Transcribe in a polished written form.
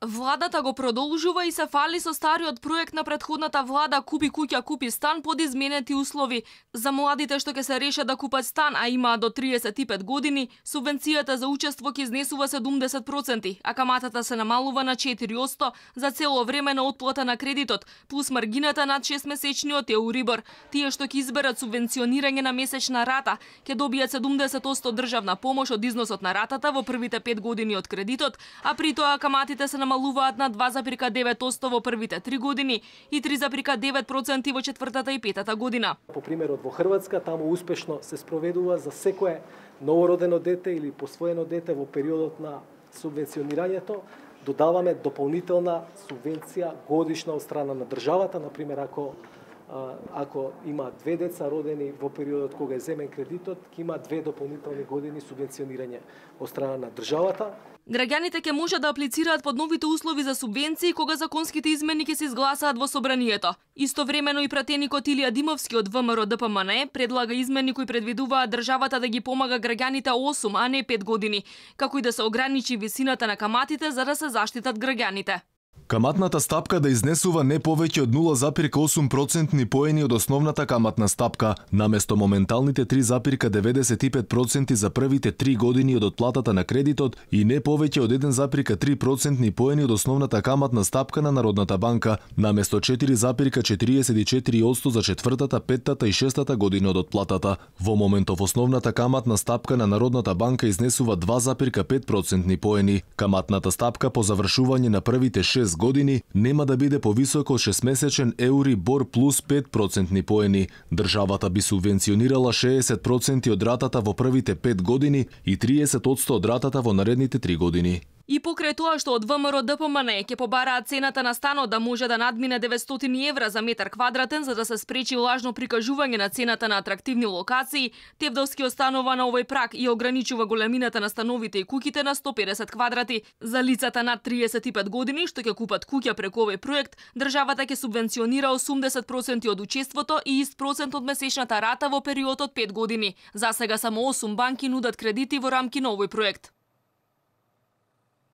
Владата го продолжува и се фали со стариот проект на претходната влада Купи куќа, купи стан под изменети услови. За младите што ќе се решат да купат стан, а имаат до 35 години, субвенцијата за учество ќе изнесува 70%, а каматата се намалува на 4% за цело време на отплата на кредитот, плюс маргината над 6-месечниот Еурибор. Тие што ќе изберат субвенционирање на месечна рата, ќе добијат 70% државна помош од износот на ратата во првите 5 години од кредитот, а при тоа каматите се намалуваат на 2,9% во првите 3 години и 3,9% во четвртата и петата година. По примерот во Хрватска, таму успешно се спроведува за секое новородено дете или посвоено дете во периодот на субвенционирањето, додаваме дополнителна субвенција годишна од страна на државата, например ако има 2 деца родени во периодот кога е земен кредитот, ќе има 2 дополнителни години субвенционирање од страна на државата. Граѓаните ќе може да аплицираат под новите услови за субвенции кога законските измени ќе се изгласаат во собранието. Истовремено и пратеникот Илија Димовски од ВМРО ДПМНЕ предлага измени кои предвидуваат државата да ги помага граѓаните 8, а не 5 години, како и да се ограничи висината на каматите за да се заштитат граѓаните. Каматната стапка да изнесува не повеќе од 0,8% поени од основната каматна стапка, наместо моменталните 3,95% за првите 3 години од отплатата на кредитот и не повеќе од 1,3% поени од основната каматна стапка на Народната банка, наместо 4,44% за четвртата, петтата и шестата година од отплатата. Во моментов основната каматна стапка на Народната банка изнесува 2,5% поени. Каматната стапка по завршување на првите 6 години нема да биде повисоко од 6-месечен Еурибор плюс 5% поени. Државата би субвенционирала 60% од ратата во првите 5 години и 30% од ратата во наредните 3 години. И покрај тоа што од ВМРО ДПМНЕ ќе побараат цената на станот да може да надмине 900 евра за метар квадратен за да се спречи лажно прикажување на цената на атрактивни локации, Тевдовски останува на овој праг и ограничува големината на становите и куќите на 150 квадрати. За лицата над 35 години што ќе купат куќа преку овој проект, државата ќе субвенционира 80% од учеството и ист процент од месечната рата во период од 5 години. За сега само 8 банки нудат кредити во рамки на овој проект.